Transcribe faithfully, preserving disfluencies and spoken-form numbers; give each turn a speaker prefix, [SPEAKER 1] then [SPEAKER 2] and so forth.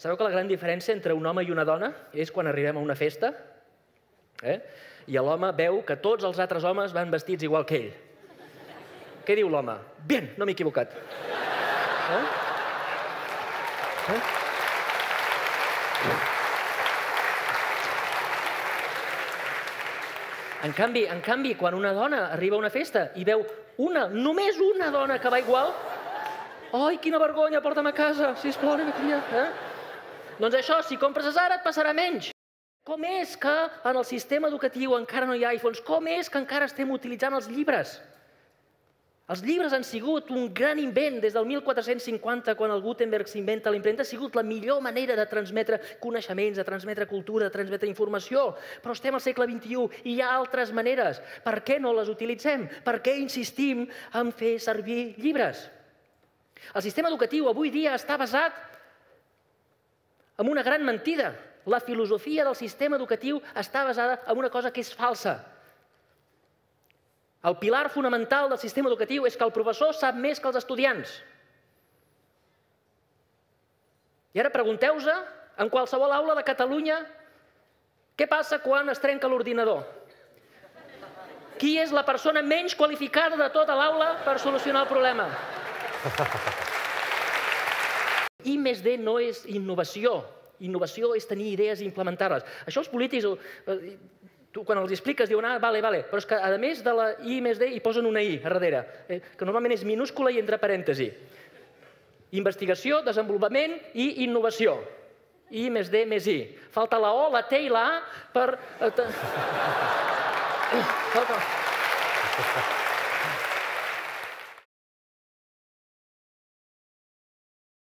[SPEAKER 1] Sabeu que la gran diferència entre un home i una dona és quan arribem a una festa i l'home veu que tots els altres homes van vestits igual que ell. Què diu l'home? Bien, no m'he equivocat. En canvi, en canvi, quan una dona arriba a una festa i veu una, només una dona que va igual, ai, quina vergonya, porta'm a casa, sisplau, anem a canviar. Doncs això, si compres a Zara et passarà menys. Com és que en el sistema educatiu encara no hi ha iPhones? Com és que encara estem utilitzant els llibres? Els llibres han sigut un gran invent des del mil quatre-cents cinquanta, quan el Gutenberg s'inventa la impremta. Ha sigut la millor manera de transmetre coneixements, de transmetre cultura, de transmetre informació. Però estem al segle vint-i-u i hi ha altres maneres. Per què no les utilitzem? Per què insistim en fer servir llibres? El sistema educatiu avui dia està basat en una gran mentida. La filosofia del sistema educatiu està basada en una cosa que és falsa. El pilar fonamental del sistema educatiu és que el professor sap més que els estudiants. I ara pregunteu-vos, en qualsevol aula de Catalunya, què passa quan es trenca l'ordinador? Qui és la persona menys qualificada de tota l'aula per solucionar el problema? I més D no és innovació. Innovació és tenir idees i implementar-les. Això els polítics, tu quan els expliques diuen, ah, vale, vale, però és que a més de la I més D hi posen una I a darrere, que normalment és minúscula i entre parèntesi. Investigació, desenvolupament i innovació. I més D més I. Falta la O, la T i la A per...